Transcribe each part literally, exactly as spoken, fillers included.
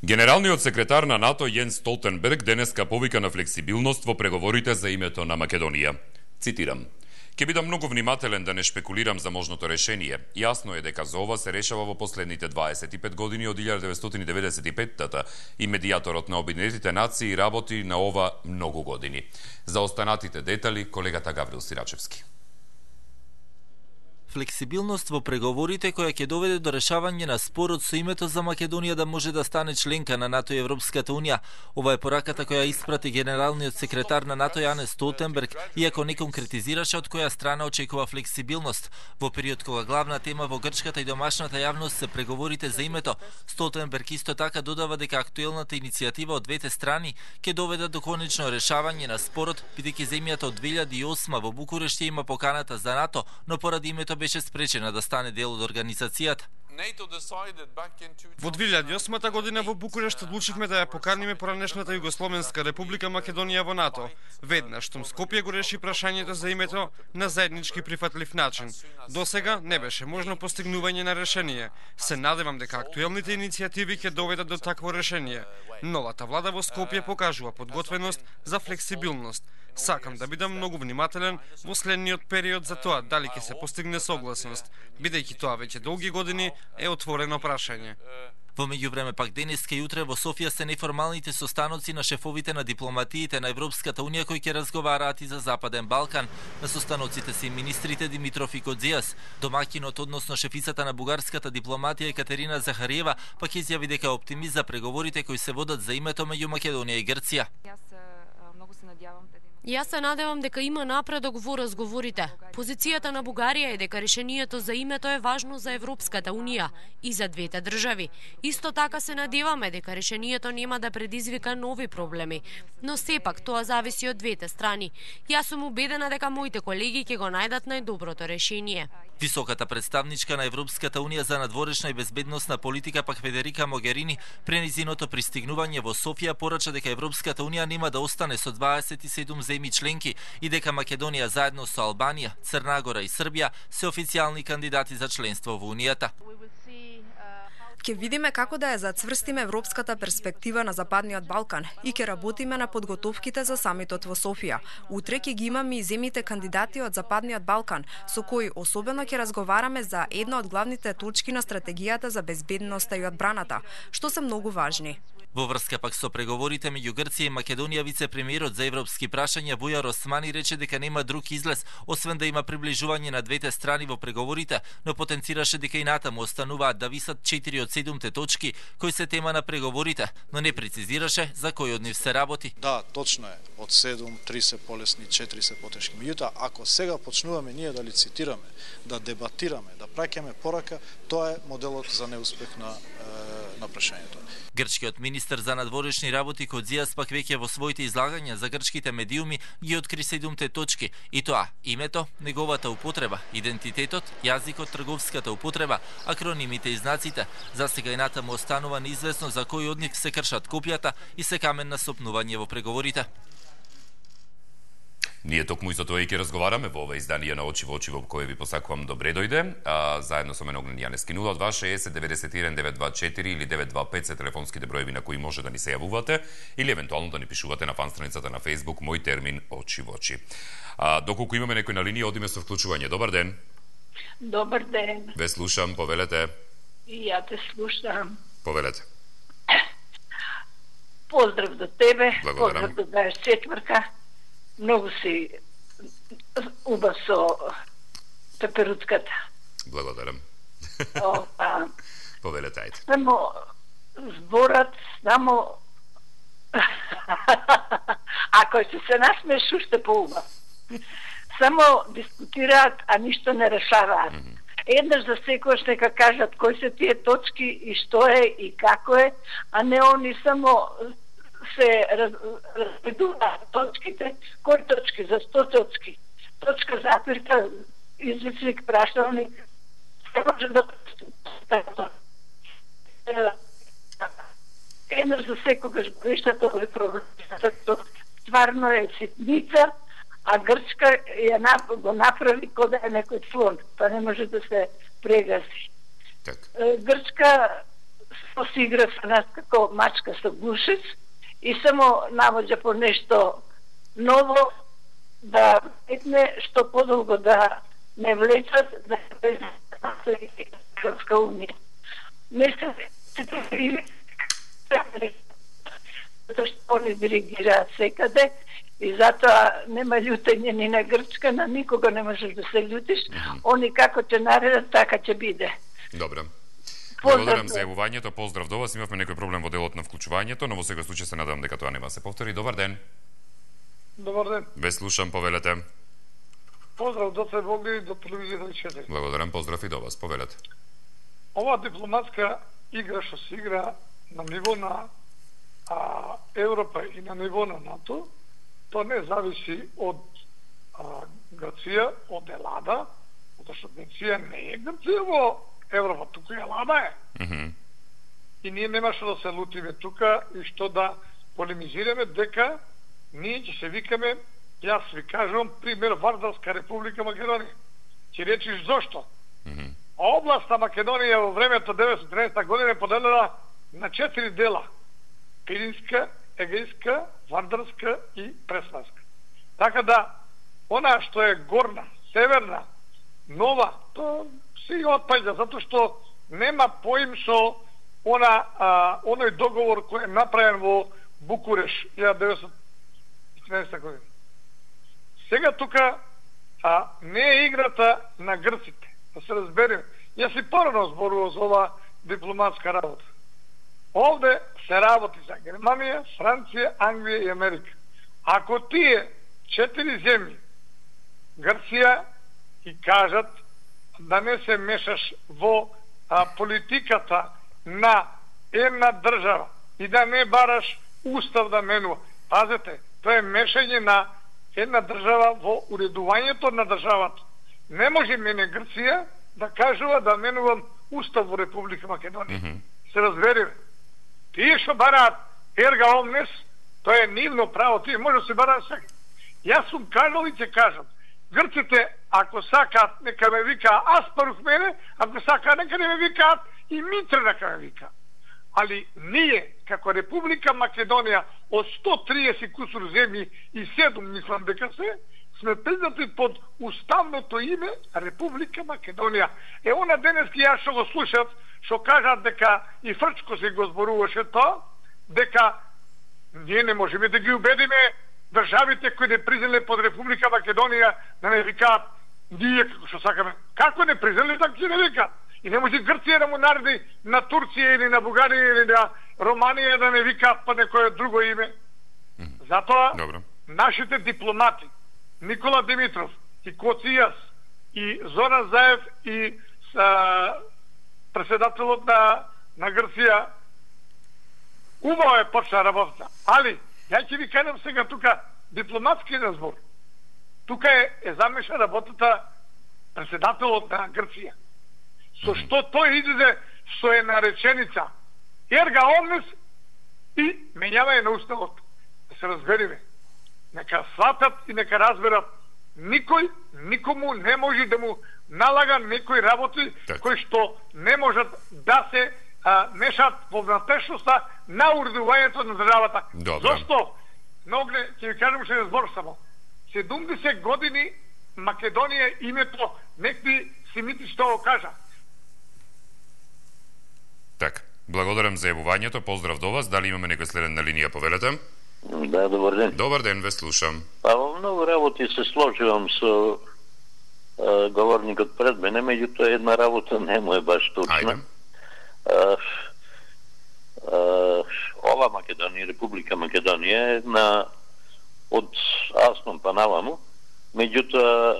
Генералниот секретар на НАТО Јенс Столтенберг денеска повика на флексибилност во преговорите за името на Македонија. Цитирам: "Ке бидам многу внимателен да не шпекулирам за можното решение. Јасно е дека за ова се решава во последните дваесет и пет години од илјада деветстотини деветдесет и петта и медијаторот на Обединетите нации работи на ова многу години." За останатите детали, колегата Гаврил Сирачевски. Флексибилност во преговорите која ќе доведе до решавање на спорот со името за Македонија да може да стане членка на НАТО и Европската унија. Ова е пораката која испрати генералниот секретар на НАТО Јенс Столтенберг, иако не конкретизираше од која страна очекува флексибилност. Во период кога главна тема во грчката и домашната јавност се преговорите за името, Столтенберг исто така додава дека актуелната иницијатива од двете страни ќе доведе до конечно решавање на спорот, бидејќи земјата од две илјади и осма во Букурешт има поканата за НАТО, но поради името беше спречена да стане дел од организацијата. Во две илјади и осма година во Букурешт одлучивме да ја поканиме поранешната Југословенска република Македонија во НАТО. Веднаш штом Скопје го реши прашањето за името на заеднички прифатлив начин. До сега не беше можно постигнување на решение. Се надевам дека актуелните иницијативи ќе доведат до такво решение. Новата влада во Скопје покажува подготвеност за флексибилност. Сакам да бидам многу внимателен во следниот период за тоа дали ќе се постигне согласност, бидејќи тоа веќе долги години е отворено прашање. Во меѓувреме пак денеска и утре во Софија се неформалните состаноци на шефовите на дипломатиите на Европската унија кои ќе разговараат и за Западен Балкан. На состаноците се и министрите Димитров и Кодзијас. Домаќинот, односно шефицата на бугарската дипломатија Екатерина Захариева, пак изјави дека е оптимист за преговорите кои се водат за името меѓу Македонија и Грција. Јас се надевам дека има напредок во разговорите. Позицијата на Бугарија е дека решението за името е важно за Европската унија и за двете држави. Исто така се надеваме дека решението нема да предизвика нови проблеми, но сепак тоа зависи од двете страни. Јас сум убедена дека моите колеги ќе го најдат најдоброто решение. Високата представничка на Европската унија за надворешна и безбедносна политика пак Федерика Могерини при низиното пристигнување во Софија порача дека Европската унија нема да остане со дваесет и седум земји членки и дека Македонија заедно со Албанија, Црна Гора и Србија се официјални кандидати за членство во Унијата. Ќе видиме како да ја зацврстиме европската перспектива на Западниот Балкан и ќе работиме на подготовките за самитот во Софија. Утре ќе ги имаме и земјите кандидати од Западниот Балкан, со кои особено ќе разговараме за една од главните точки на стратегијата за безбедноста и одбраната, што се многу важни. Во врска пак со преговорите меѓу Грција и Македонија, вице-премиерот за европски прашања Бујар Османи рече дека нема друг излез освен да има приближување на двете страни во преговорите, но потенцираше дека и натаму остануваат да висат четири од седумте точки кои се тема на преговорите, но не прецизираше за кој од нив се работи. Да, точно е. Од седум, три се полесни, четири се потешки. Меѓутоа, ако сега почнуваме ние да лицитираме, да дебатираме, да праќаме порака, тоа е моделот за неуспех на на прашањето. Грчкиот министер за надворешни работи Кодзијас пак веќе во своите излагања за грчките медиуми ги откри седумте точки, и тоа името, неговата употреба, идентитетот, јазикот, трговската употреба, акронимите и знаците. За сега и натаму останува неизвестно за кои од нив се кршат копијата и се камен на сопнување во преговорите. Ние токму исто тоа и ќе разговараме во ова издание на Очи во очи во кое ви посакувам добре дојде. А, заедно со мене Огнен Јанески. нула два шеесет деветдесет и еден девет два четири или девет два пет се телефонските броеви на кои може да ни се јавувате или евентуално да ни пишувате на фан страницата на Facebook Мој термин Очи во очи. А, доколку имаме некој на линија, одиме со вклучување. Добар ден. Добар ден. Ве слушам, повелете. И ја те слушам. Повелете. Поздрав до тебе. Благодарам. Поздрав до дваесет и четвртка. Многу си убав со пеперуцката. Благодарам. Ова. Повелете, ајде. Само зборат, само ако ќе се насмеш, уште поубав. Само дискутираат, а ништо не решаваат. Mm -hmm. Еднаш за секојаш нека кажат кои се тие точки и што е и како е, а не они само се разбедуваат точките, кои точки, за сто точки. Точка запирка, извичник, прашалник, се може да еднаш за секогаш го решат овој проблем. Стварно е ситница, а Грчка ја го направи кога е некој слон, па не може да се прегаси. Так. Грчка само се игра со нас како мачка со гушец и само навоѓа по нешто ново да етне што подолго да не влечат да се Европска унија. Не се затоа што они диригираат секаде и затоа нема љутење ни на Грчка, на никога не можеш да се љутиш. Mm-hmm. Они како ќе наредат, така ќе биде. Добре. Благодарам за јавувањето, поздрав до вас. Имавме некој проблем во делот на вклучувањето, но во секој случај се надевам дека тоа нема се повтори. Добар ден. Добар ден. Ве слушам, повелете. Поздрав до се Богли и до телевизија четири. Благодарам, поздрав и до вас, повелете. Ова дипломатска игра што се игра на ниво на а, Европа и на ниво на НАТО, тоа не зависи од а, Грција, од Елада, затоа што Грција не е Грција во Европа, тука Елада е. Mm-hmm. И ние нема што да се лутиме тука и што да полемизираме дека ние ќе се викаме, јас ви кажувам, пример Вардарска република Македонија. Ќе речиш зошто? Mm-hmm. Областа Македонија во времето деветстотини и тринадесета година е поделена на четири дела. Пиринска, Егејска, Вардарска и Преславска. Така да, она што е горна, северна, нова, тоа се отпаѓа, затоа што нема поим со она, а, оној договор кој е направен во Букуреш илјада деветстотини и тринадесета година. Сега тука а, не е играта на грците, да се разбереме. Јас и порано зборувам за ова дипломатска работа. Овде се работи за Германија, Франција, Англија и Америка. Ако тие четири земји, Грција, и кажат да не се мешаш во а, политиката на една држава и да не бараш устав да менува. Пазете, тоа е мешање на една држава во уредувањето на државата. Не може мене Грција да кажува да менувам устав во Република Македонија. Mm-hmm. Се разбереме. Тие што бараат ерга омнес, тоа е нивно право, тие може да се бараат сега. Јас сум кажал и ќе кажам. Грците, ако сакаат, нека ме викаат Аспарух мене, ако сакаат, нека не ме викаат и Митре нека ме викаат. Али ние, како Република Македонија, од сто триесет кусур земји и седум, мислам дека се, сме признати под уставното име Република Македонија. Е, она денески јас што го слушат, што кажат дека и Фрчко се го зборуваше тоа, дека ние не можеме да ги убедиме државите кои не признале под Република Македонија да не викаат ние како што сакаме. Како не признале, така ќе не викаат. И не може Грција да му нареди на Турција или на Бугарија или на Романија да не викаат па некое друго име. Затоа Добро. Нашите дипломати Никола Димитров и Коцијас и Зоран Заев и а, председателот на, на Грција убаво е почна работа. Али, ја ќе ви кажам сега тука дипломатски разбор. Тука е, е замеша работата председателот на Грција. Со што тој излезе со една реченица ерга омнес и менјавање на уставот. Да се разбериме. Нека сватат и нека разберат. Никој, никому не може да му налага некои работи так. Кои што не можат да се а, мешат во внатрешноста на уредувањето на државата. Добре. Зошто? Многле, ќе ви кажам ше збор само. седумдесет години Македонија името некои семити што го кажа. Так, благодарам за јавувањето, поздрав до вас. Дали имаме некој следен на линија, повелете? Да, добар ден. Добар ден, ве слушам. Па во многу работи се сложувам со а, говорникот пред мене, меѓутоа една работа не му е баш точна. Ајде. А, а, ова Македонија, Република Македонија е на од Аснон па наваму, меѓутоа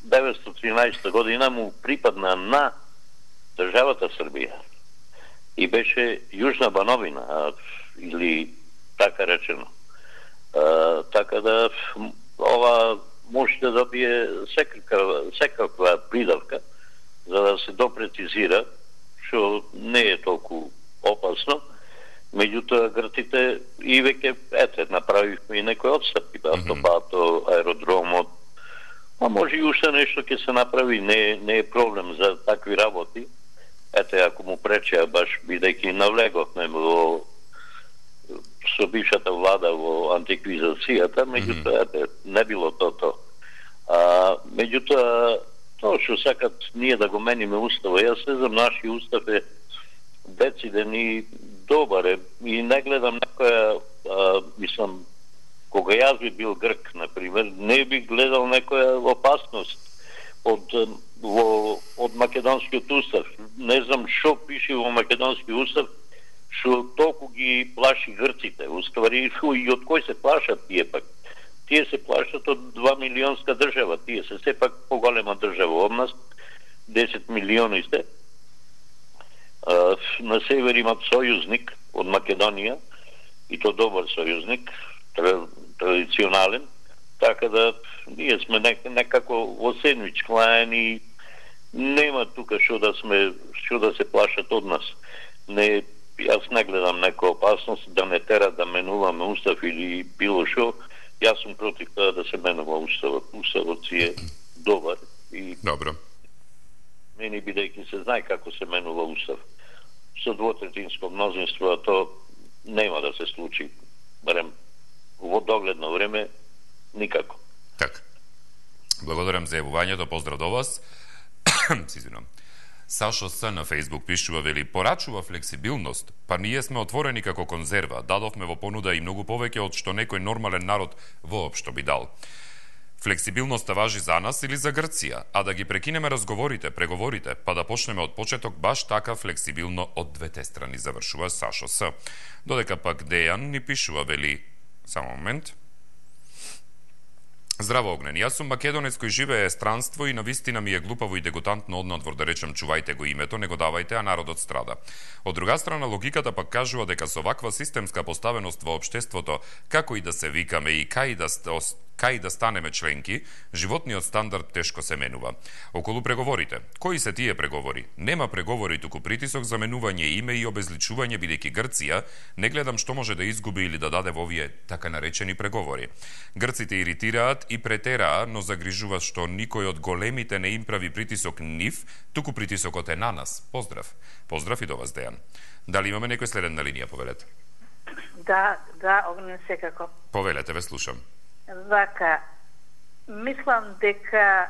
деветстотини и тринаесета година му припадна на државата Србија и беше Јужна Бановина, или така речено. А, така да ова може да добие секаква, секаква придавка за да се допрецизира, што не е толку опасно. Меѓутоа грците и веќе ете направивме и некои отстапки, автобато, аеродромот, а може и уште нешто ќе се направи, не, не е проблем за такви работи. ете, ако му пречеа баш бидејќи навлеговме во со бившата влада во антиквизацијата, меѓутоа, ете, не било тото. А, меѓутоа, тоа што сакат ние да го мениме уставот, јас не знам, наши устав е дециден и добар е, и не гледам некоја, а, мислам, кога јас би бил грк, например, не би гледал некоја опасност од во од македонскиот устав. Не знам што пише во македонски устав што толку ги плаши грците. Уствари, и од кој се плашат тие пак? Тие се плашат од два милионска држава. Тие се сепак поголема држава од нас, десет милиони сте. А, на север имат сојузник од Македонија, и то добар сојузник, традиционален, така да ние сме нек, некако во сендвич клаен и нема тука што да сме што да се плашат од нас. Не, јас не гледам нека опасност да не тера да менуваме устав или било што. Јас сум против тоа да се менува уставот. Уставот си е добар и добро. Мени бидејќи се знае како се менува устав. Со двотретинско мнозинство, а то нема да се случи. Барем во догледно време никако. Така. Благодарам за јавувањето, поздрав до вас. Си извинувам. Сашо С на Фейсбук пишува, вели, порачува флексибилност, па ние сме отворени како конзерва, дадовме во понуда и многу повеќе од што некој нормален народ воопшто би дал. Флексибилноста важи за нас или за Грција, а да ги прекинеме разговорите, преговорите, па да почнеме од почеток баш така флексибилно од двете страни, завршува Сашо С. Додека пак Дејан ни пишува, вели, само момент. Здраво, Огнен, јас сум македонец кој живее странство и навистина ми е глупаво и дегутантно однадвор да речем чувајте го името, не го давајте, а народот страда. Од друга страна, логиката пак кажува дека со ваква системска поставеност во општеството, како и да се викаме и кај да кај да станеме членки, животниот стандард тешко се менува. Околу преговорите. Кои се тие преговори? Нема преговори, туку притисок за менување име и обезличување, бидејќи Грција не гледам што може да изгуби или да даде во овие така наречени преговори. Грците иритираат и претераа, но загрижува што никој од големите не им прави притисок нив, туку притисокот е на нас. Поздрав. Поздрав и до вас, Дејан. Дали имаме некој следен на линија, повелете? Да, да, Огнен, секако. Повелете, ве слушам. Вака, мислам дека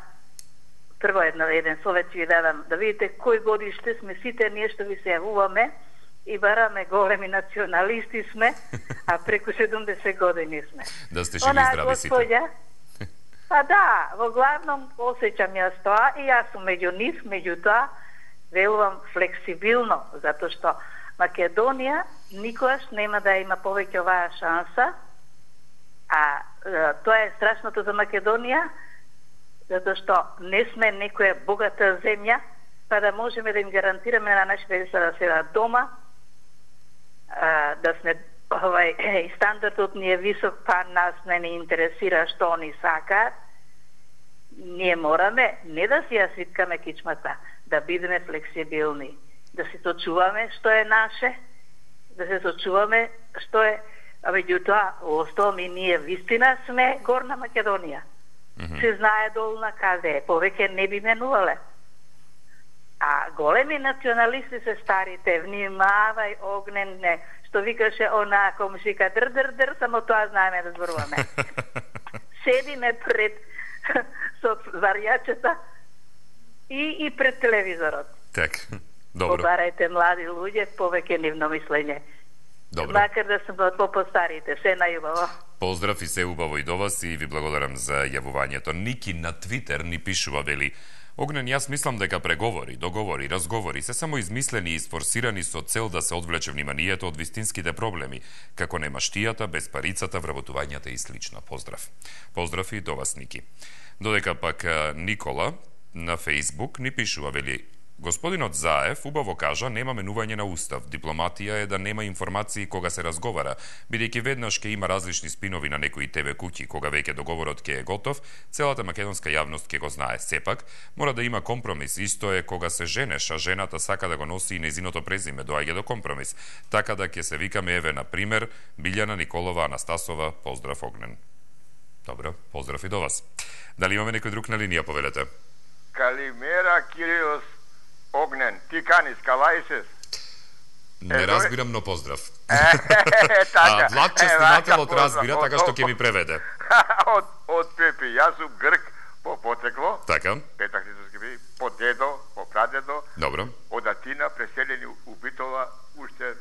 прво една, еден совет ви дадам, да видите кој годиште сме сите ние што ви се јавуваме и бараме големи националисти сме, а преку седумдесет години сме. Да сте живи и здрави сите. Господја, па да, во главном осеќам јас тоа и јас сум меѓу нив, меѓутоа велувам флексибилно, затоа што Македонија никогаш нема да има повеќе оваа шанса. А тоа е страшното за Македонија, затоа што не сме некоја богата земја, па да можеме да им гарантираме на нашите деца да седат дома, а, да сме овај стандардот ни е висок, па нас не ни интересира што они сакаат. Ние мораме не да си ја свиткаме кичмата, да бидеме флексибилни, да се сочуваме што е наше, да се сочуваме што е. А меѓутоа, остом и ние вистина сме Горна Македонија. Mm-hmm. Се знае долна каде е, повеќе не би менувале. А големи националисти се старите, внимавај, Огнен, не, што викаше она комшика, др, др, др, само тоа знаеме да зборуваме. Седиме пред со варјачета и, и пред телевизорот. Так, добро. Побарајте млади луѓе, повеќе нивно мислење. Добро. Макар да сум од по-постарите, се најубаво. Поздрав и се убаво и до вас и ви благодарам за јавувањето. Ники на Твитер ни пишува, вели, Огнен, јас мислам дека преговори, договори, разговори се само измислени и сфорсирани со цел да се одвлече вниманието од вистинските проблеми, како немаштијата, безпарицата, вработувањата и слично. Поздрав. Поздрав и до вас, Ники. Додека пак Никола на Фейсбук ни пишува, вели, Господинот Заев убаво кажа нема менување на устав. Дипломатија е да нема информации кога се разговара, бидејќи веднаш ќе има различни спинови на некои те ве куќи, кога веќе договорот ќе е готов, целата македонска јавност ќе го знае. Сепак, мора да има компромис. Исто е кога се женеш, а жената сака да го носи и незиното презиме, доаѓа до компромис. Така да ќе се викаме, еве, на пример, Билјана Николова Анастасова, поздрав, Огнен. Добро, поздрав и до вас. Дали имаме некој друг на линија, повелете? Калимера, Кирилос. Огнен, ти канис, калајсес. Не разбирам, но поздрав. Е, така. А Влад честинателот разбира, така што ќе ми преведе. Од, од Пепи, јас сум грк по потекло. Така. Петак Христовски би, по дедо, по прадедо. Добро. Од Атина, преселени у Битола, уште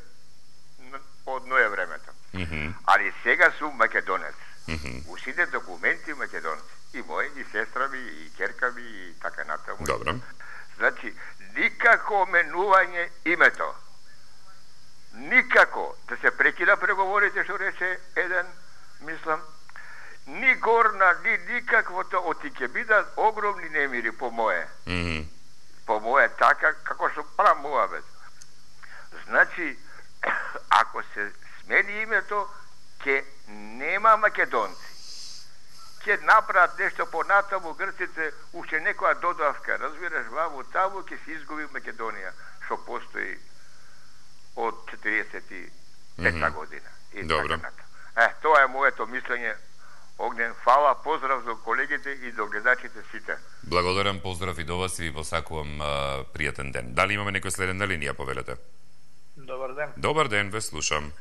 од ное времето. Mm -hmm. Али сега сум македонец. Mm -hmm. У сите документи македонец. И мој, и сестра ми, и ќерка ми, и така натаму. Добро. Значи, никако менување името. Никако да се прекина преговорите, што рече еден, мислам, ни горна, ни никаквото, оти ќе бидат огромни немири по моje. Mm -hmm. По моje така, како што прав муабет. Значи, ако се смени името, ќе нема македонци. Ќе направат нешто понатаму грците, уште некоја додавка, разбираш, ваму таму ќе се изгуби Македонија, што постои од четириесет и пета mm -hmm. година. И добро. Така, е, тоа е моето мислење. Огнен, фала, поздрав за колегите и до гледачите сите. Благодарам, поздрав и до вас и ви посакувам а, пријатен ден. Дали имаме некој следен на линија, повелете? Добар ден. Добар ден, ве слушам.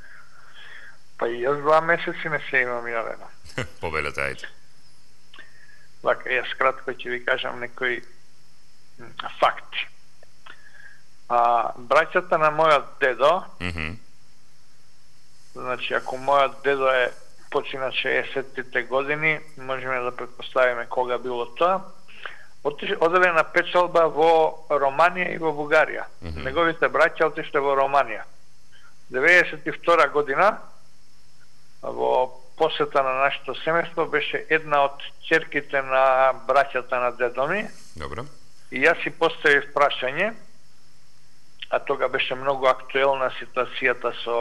Па и јас два месеци не се имам јавено. Повелете, ајде. Вака, јас кратко ќе ви кажам некои факти. А, браќата на мојот дедо, mm -hmm. значи, ако мојот дедо е почина шеесеттите години, можеме да предпоставиме кога било тоа, оделе на печалба во Романија и во Бугарија. Mm -hmm. Неговите браќа отишле во Романија. деветдесет и втора година, во посета на нашето семејство, беше една од ќерките на браќата на дедо ми. Добро. И јас си поставив прашање, а тога беше многу актуелна ситуацијата со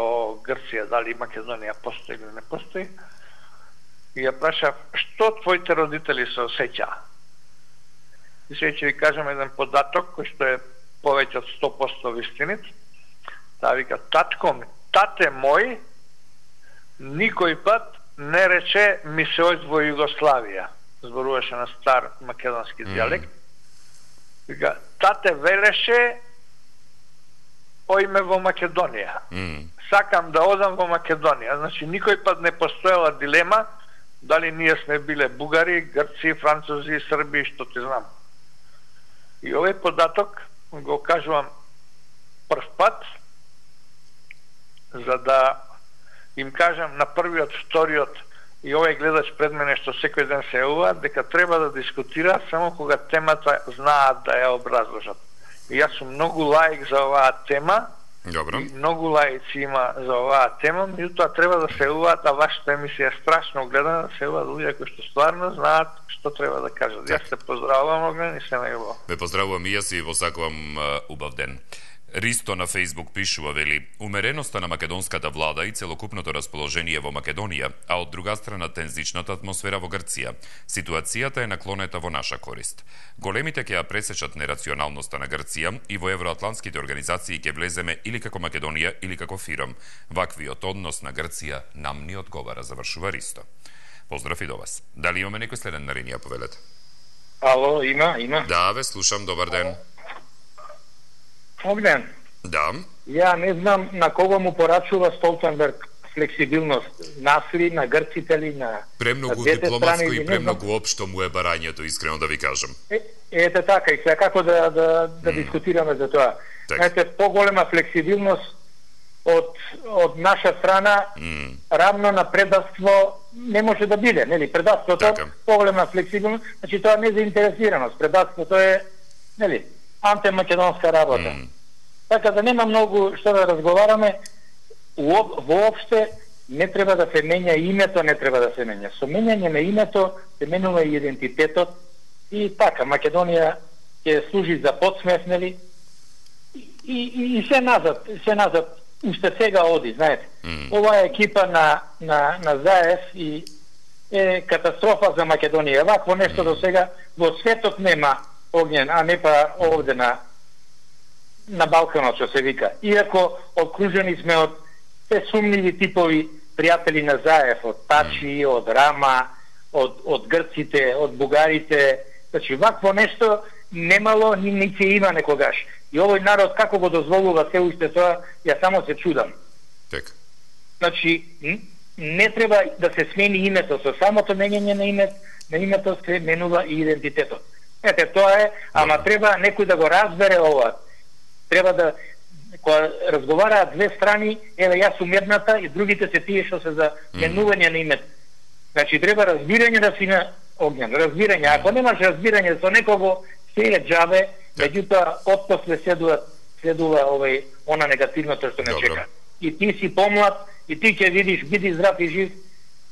Грција, дали Македонија постои или не постои. И ја прашав, што твоите родители се осеќаа? И сега ќе ви кажам еден податок, кој што е повеќе од сто проценти вистинит. Таа вика, татко ми, тате мој, никој пат не рече ми се оѓ во Југославија. Зборуваше на стар македонски дијалект. Mm. Вика, тате велеше ојме во Македонија. Mm. Сакам да одам во Македонија. Значи, никој пат не постоела дилема дали ние сме биле бугари, грци, французи, срби, што ти знам. И овој податок го кажувам прв пат, за да им кажам на првиот, вториот и овој гледач пред мене што секој ден се јавува, дека треба да дискутира само кога темата знаат да ја образложат. И јас сум многу лаик за оваа тема. Добро. И многу лаици има за оваа тема, меѓутоа треба да се јавуваат, а вашата емисија е страшно гледана, да се јавуваат луѓе кои што стварно знаат што треба да кажат. Јас се поздравувам, Огнен, и се најубаво. Ве поздравувам и јас и ви посакувам uh, убав ден. Ристо на Фейсбук пишува, вели, умереноста на македонската влада и целокупното расположение во Македонија, а од друга страна тензичната атмосфера во Грција. Ситуацијата е наклонета во наша корист. Големите ќе ја пресечат нерационалноста на Грција и во евроатлантските организации ќе влеземе или како Македонија или како фиром. Ваквиот однос на Грција нам ни одговара, завршува Ристо. Поздрав и до вас. Дали имаме некој следен на линија, повелете? Ало, има, има. Да, ве слушам, добар ден. Огнен. Да. Ја не знам на кого му порачува Столтенберг флексибилност, нас ли, на грците ли, на премногу на дипломатско и премногу општо му е барањето, искрено да ви кажам. Е, ете така, и сега како да, да, да mm. дискутираме за тоа. Знаете, поголема флексибилност од, од наша страна mm. равно на предавство не може да биде, нели? Предавството, така. Поголема флексибилност, значи тоа не е заинтересираност, предавството е, нели, антимакедонска работа. Mm. Така да нема многу што да разговараме. Воопште не треба да се менја името, не треба да се менја. Со менјање на името се менува и идентитетот и така Македонија ќе служи за подсмев, нели? И, и, и се назад, се назад, уште сега оди, знаете. Mm. Оваа екипа на, на, на Заев и е катастрофа за Македонија. Вакво нешто mm. до сега во светот нема, Огнен, а не па овде на на Балканот, што се вика. Иако окружени сме од те сумниви типови пријатели на Заев, од Тачи, од Рама, од, од грците, од бугарите. Значи, вакво нешто немало, ни, ни ќе има некогаш. И овој народ како го дозволува се уште тоа, ја само се чудам. Така. Значи, не треба да се смени името, со самото менење на името, на името се менува и идентитетот. Ете, тоа е, ама Добре. Треба некој да го разбере ова. Треба да, кога разговараат две страни, еве јас сум едната и другите се тие што се за менување mm. на името. Значи, треба разбирање да си на огњен, разбирање. Ако немаш разбирање со некого, се е џабе, меѓутоа, отпосле следува, следува овој, она негативното што не Добре. Чека. И ти си помлад, и ти ќе видиш, биди здрав и жив,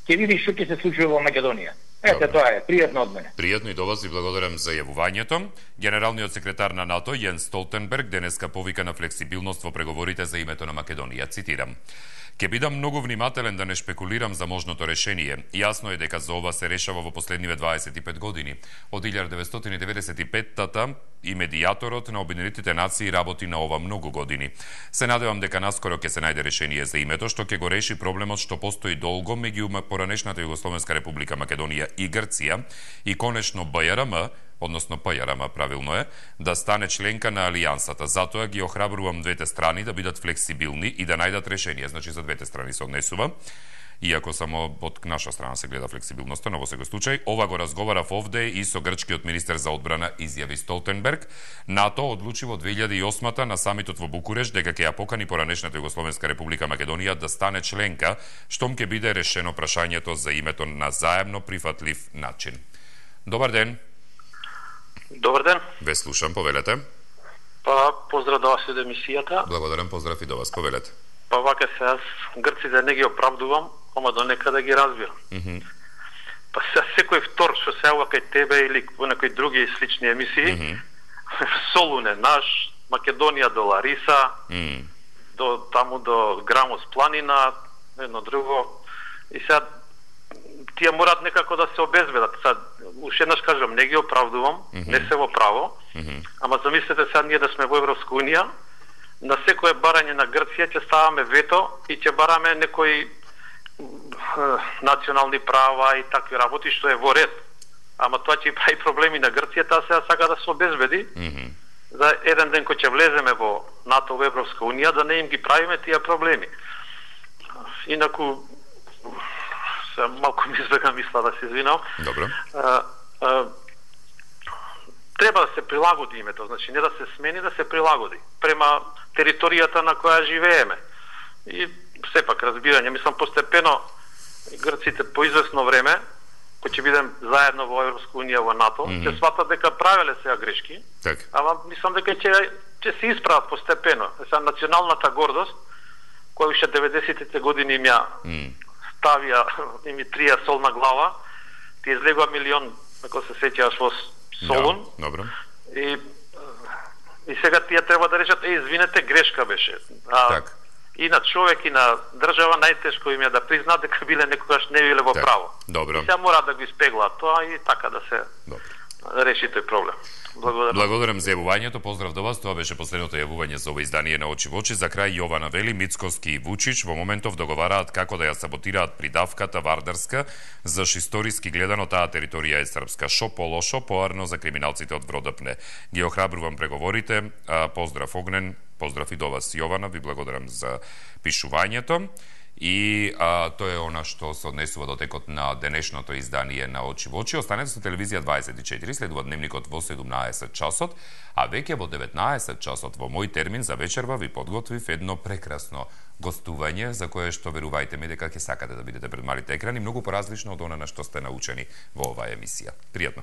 ќе видиш што ќе се случи во Македонија. Ете, Добре. Тоа е, пријатно од мене. Пријатно и до вас, ви благодарам за јавувањето. Генералниот секретар на НАТО Јенс Столтенберг денеска повика на флексибилност во преговорите за името на Македонија. Цитирам: "Ке бидам многу внимателен да не шпекулирам за можното решение. Јасно е дека за ова се решава во последниве дваесет и пет години. Од илјада деветстотини деведесет и петта и медијаторот на Обединетите нации работи на ова многу години. Се надевам дека наскоро ќе се најде решение за името што ќе го реши проблемот што постои долго меѓу поранешната Југословенска република Македонија и Грција и конечно Б Ј Р М, односно П Ј Р М правилно е, да стане членка на Алијансата. Затоа ги охрабрувам двете страни да бидат флексибилни и да најдат решение." Значи за двете страни се однесува. Иако само од наша страна се гледа флексибилноста, но во секој случај, ова го разговарав овде и со грчкиот министер за одбрана, изјави Столтенберг. НАТО одлучи во две илјади и осма на самитот во Букуреш дека ќе ја покани поранешната Југословенска република Македонија да стане членка, штом ќе биде решено прашањето за името на заемно прифатлив начин. Добар ден. Добар ден. Ве слушам, повелете. Па, поздрав до вас и до емисијата. Благодарам, поздрав и до вас, повелете. Па вака се, аз грците не ги оправдувам, ама до некада ги разбирам. Mm -hmm. Па се, секој втор што се ава кај тебе или во некои други слични емисии, mm -hmm. Солун е наш, Македонија до Лариса, mm -hmm. до таму до Грамос планина, едно друго. И сега тие морат некако да се обезбедат. Сега, уште еднаш кажам, не ги оправдувам, mm -hmm. не се во право, mm -hmm. ама замислете сега ние да сме во Европска унија, на секое барање на Грција ќе ставаме вето и ќе бараме некои национални права и такви работи, што е во ред. Ама тоа ќе прави проблеми на Грција, таа сега сака да се обезбеди. Mm -hmm. За еден ден кој ќе влеземе во НАТО, во Европска унија, да не им ги правиме тие проблеми. Инаку, се малку ми избега мисла, да се извинам. Добро. А, а, треба да се прилагоди името, значи не да се смени, да се прилагоди према територијата на која живееме. И сепак разбирање, мислам постепено грците по известно време, кој ќе бидем заедно во Европска унија, во НАТО, ќе mm -hmm. сватат дека правеле сега грешки, так. Ама мислам дека ќе ќе се исправат постепено. Сега националната гордост, која уште деветдесетите години им ја mm. ставија, им трија сол на глава, ти излегува милион, ако се сеќаваш, во Солун. Да, добро. И и сега тие треба да речат, е, извинете, грешка беше. А, так. И на човек и на држава најтешко им е да признаат дека биле некогаш не биле во так. Право. Добро. И сега мора да го испеглаат тоа и така да се добро. Реши тој проблем. Благодарам. Благодарам за јавувањето, поздрав до вас. Тоа беше последното јавување за ова издание на Очи во очи. За крај Јована вели, Мицкоски и Вучич во моментов договараат како да ја саботираат придавката Вардарска, заш историски гледано таа територија е српска. Шо полошо, поарно за криминалците од Вродопне. Ги охрабрувам преговорите. Поздрав Огнен, поздрав и до вас Јована, ви благодарам за пишувањето. И а, тоа е она што се однесува до текот на денешното издание на Очи во очи. Останете со телевизија дваесет и четири, следува дневникот во седумнаесет часот, а веќе во деветнаесет часот во мој термин за вечерва ви подготвив едно прекрасно гостување за кое што верувајте ми дека ќе сакате да бидете пред малите екрани, многу поразлично од она на што сте научени во оваа емисија. Пријатно.